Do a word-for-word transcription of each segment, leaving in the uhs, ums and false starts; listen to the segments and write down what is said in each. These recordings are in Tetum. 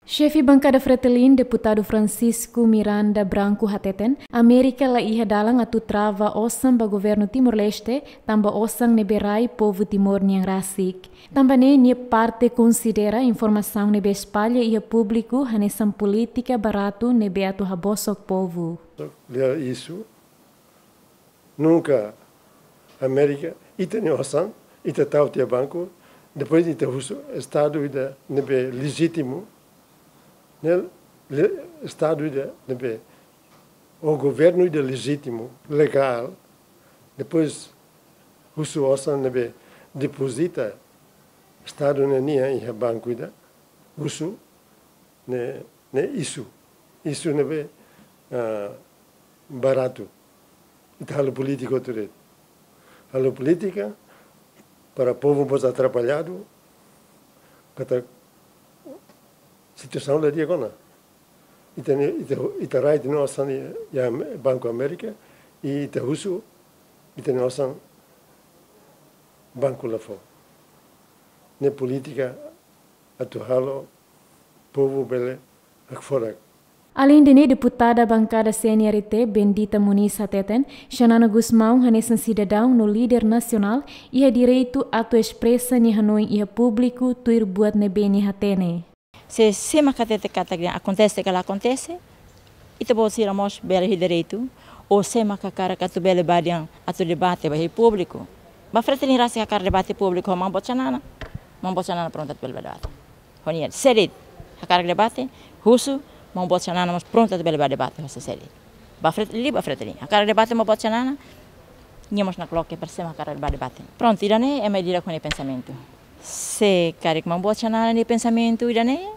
Xefe bankada Fretilin, deputadu Francisco Miranda Branco hateten, Amérika la iha dalan atu trava osan ba governu Timor-Leste, tanba osan ne'ebé rai povu Timor nian rasik. Tanba ne'e nia parte konsidera informasaun ne'ebé espalla iha públiku hanesan polítika baratu ne'ebé atu habosok povu. Lia isu, nunka Amérika, ita-nia osan, ita tau tiha banku, depois ita husu estadu ida ne'ebé lejítimu, ne'e le-, estadu ida ne'ebé, ou governu ida lejítimu, legál, depois husu osan ne'ebé depozita estadu ne'e nian iha banku ida, husu, ne'e, ne'e isu. Isu ne'ebé, ah, baratu. Ita halo polítika hotu de'it. Halo polítika para povu mós atrapalladu, katak situasaun la di'ak ona. Ita-nia, ita, ita rai ita-nia osan iha Banku Amérika, i ita husu ita-nia osan banku la fó. Ne'e polítika atu halo povu bele hakfodak. Aleinde ne'e, deputada bankada C N R T, Bendita Muniz hateten, Xanana Gusmão hanesan sidadaun no líder nasionál iha direitu atu espresa nia hanoin iha públiku tuir buat ne'ebé nia hatene. Se, sé mak hatete katak akontese ka la akontese, ita-boot sira mós bele iha direitu, ou sé mak hakarak atu bele bá dehan atu debate ba iha públiku. Ba Fretilin rasik hakarak debate públiku ho maun boot Xanana, maun boot Xanana prontu atu bele bá debate. Ho nia, sé de'it hakarak debate, husu, maun boot Xanana mós prontu atu bele bá debate ho sé de'it. Ba Fret-, liu ba Fretilin. Hakarak debate maun boot Xanana, nia mós nakloke para sé mak hakarak bá debate. Prontu, ida-ne'e ema ida-idak ho nia pensamentu. Se karik maun boot Xanana nia pensamentu ida-ne'e,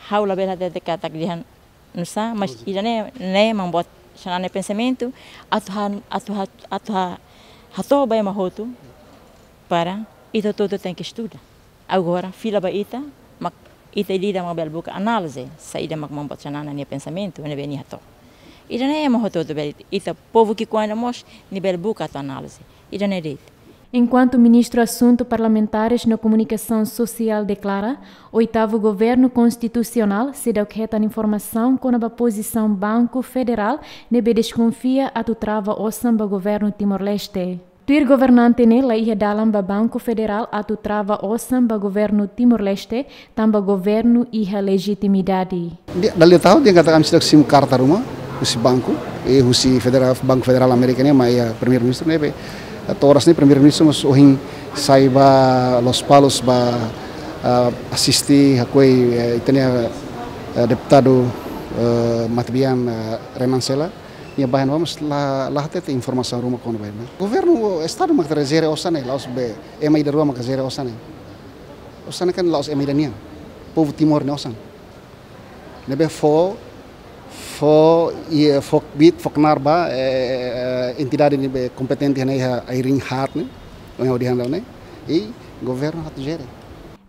ha'u labele hatete katak dehan nusá, mas ida-ne'e, ne'e maun boot Xanana nia pensamentu, atu ha-, atu ha-, atu ha-, hato'o ba ema hotu, para ita hotu-hotu tenke estuda. Agora, fila ba ita, mak ita ida-idak mak bele buka análize, saida mak maun boot Xanana nia pensamentu, ne'ebé nia hato'o. Ida-ne'e ema hotu-hotu bele, ita povu ki'ikoan ida mós, nia bele buka atu análize. Ida-ne'e de'it. Enkuantu Ministru Asuntu Parlamentares no Komunikasaun Sosiál deklara, oitavu governu konstitusionál seidauk hetan informasaun kona-ba pozisaun Banku Federál ne'ebé deskonfia atu trava osan ba governu Timor-Leste. Tuir governante ne'e, la iha dalan ba Banku Federál atu trava osan ba governu Timor-Leste, tanba governu iha lejitimidade. Dia, dala ida tahun dehan katak ami seidauk simu karta ruma husi banku, i husi federal, Banku Federál Amérika nian mai iha Primeiru-Ministru ne'ebé. To'o oras ne'e Primeiru-Ministru mós ohin sai ba Lospalos ba, ah, asiste hakoi, eh, ita-nia, eh, deputadu, eh, matebian, eh, Renan Sela. Nia ba iha-ne'ebá mós la, la hatete informasaun ruma kona-ba ne'e. Governu, estadu mak atu jere osan ne'e, la'ós be ema ida rua mak jere osan ne'e. Osan ne'e kan la'ós ema ida nian. Povu Timor nia osan. Ne'ebé fó, fó, i, fó kbiit, fó knaar ba, eh, entidade ne'ebé kompetente ne'e iha ai-riin haat ne'e, ohin ha'u dehan dala ne'e, i governu atu jere.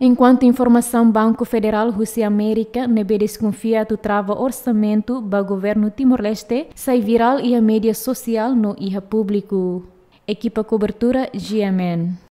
Enkuantu informasaun Banku Federál husi Amérika ne'ebé deskonfia atu trava orsamentu ba governu Timor-Leste sai virál iha média sosiál no iha públiku. Ekipa kobertura G M N.